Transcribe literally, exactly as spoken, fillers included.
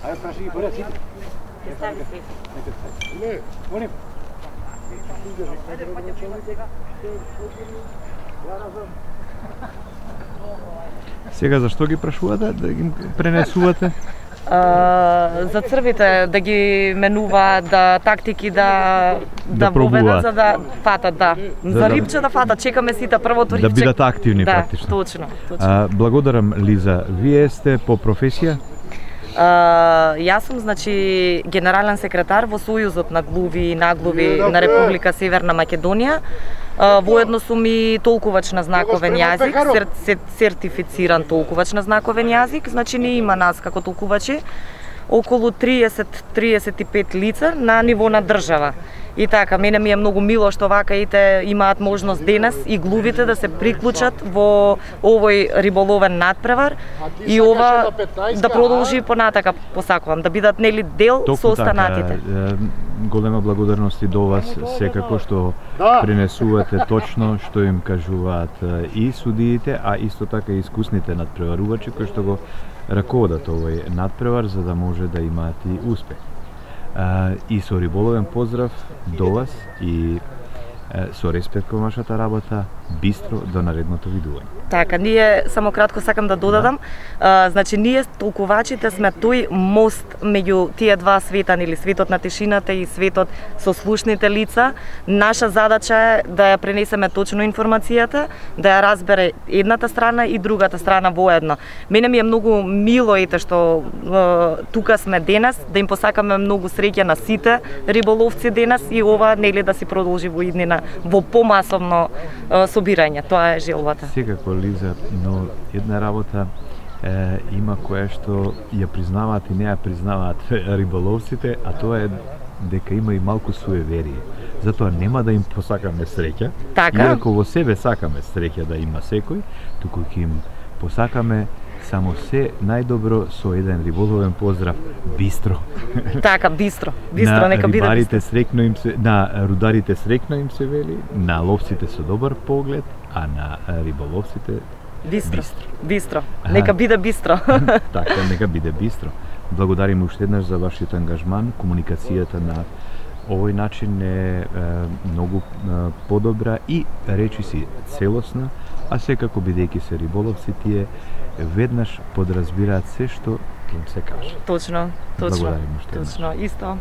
Ајде праши ги поред сите. Не, вони. Сега зашто ги прашувате да ги пренесувате? Uh, за црвите да ги менуваат, да тактики да да, да воведат за да фатат, да. За, за рибче да фатат, чекаме сите првото рибче. Да бидат активни да, практично. Точно, точно. А, благодарам Лиза. Вие сте по професија? Uh, јас сум значи генерален секретар во Сојузот на глуви и наглуви на Република Северна Македонија. Uh, воедно сум и толкувач на знаковен јазик, сер, сер, сертифициран толкувач на знаковен јазик, значи не има нас како толкувачи околу триесет до триесет и пет лица на ниво на држава. И така, мене ми е многу мило што вака ите имаат можност денес и глувите да се приклучат во овој риболовен надпревар и ова да продолжи понатака, посакувам, да бидат нели дел Току со останатите. Така, голема благодарност и до вас секако што пренесувате точно што им кажуваат и судиите, а исто така и искусните надпреварувачи кои што го раководат овој надпревар за да може да имаат и успех. Uh, и со риболовен поздрав до вас и uh, со респект кон вашата работа, бистро до наредното видување. Така, ние само кратко сакам да додадам, да. Uh, значи ние толкувачите сме тој мост меѓу тие два света, или светот на тишината и светот со слушните лица. Наша задача е да ја пренесеме точно информацијата, да ја разбере едната страна и другата страна воедно. Мене ми е многу мило ете што uh, тука сме денес, да им посакаме многу среќа на сите риболовци денес и ова нели да си продолжи во иднина во помасовно uh, собирање. Тоа е желбата. Секако, Лиза, но една работа е, има која што ја признаваат и не ја признаваат риболовците, а тоа е дека има и малку суеверие. Затоа нема да им посакаме среќа, така? Иако во себе сакаме среќа да има секој, туку ќе им посакаме само се најдобро со еден риболовен поздрав бистро. Така, бистро. Бистро, нека биде рибарите срекно им се, на рударите срекно им се вели, на ловците со добар поглед, а на риболовците бистро. Бистро. Бистро. Нека биде бистро. Така, нека биде бистро. Благодарим уште еднаш за вашиот ангажман, комуникацијата на овој начин е, е многу е, подобра и речиси целосна, а секако бидејќи се риболовци тие веднаш подразбираат се што им се каже. Точно, точно. Благодарим уште еднаш. Точно, исто.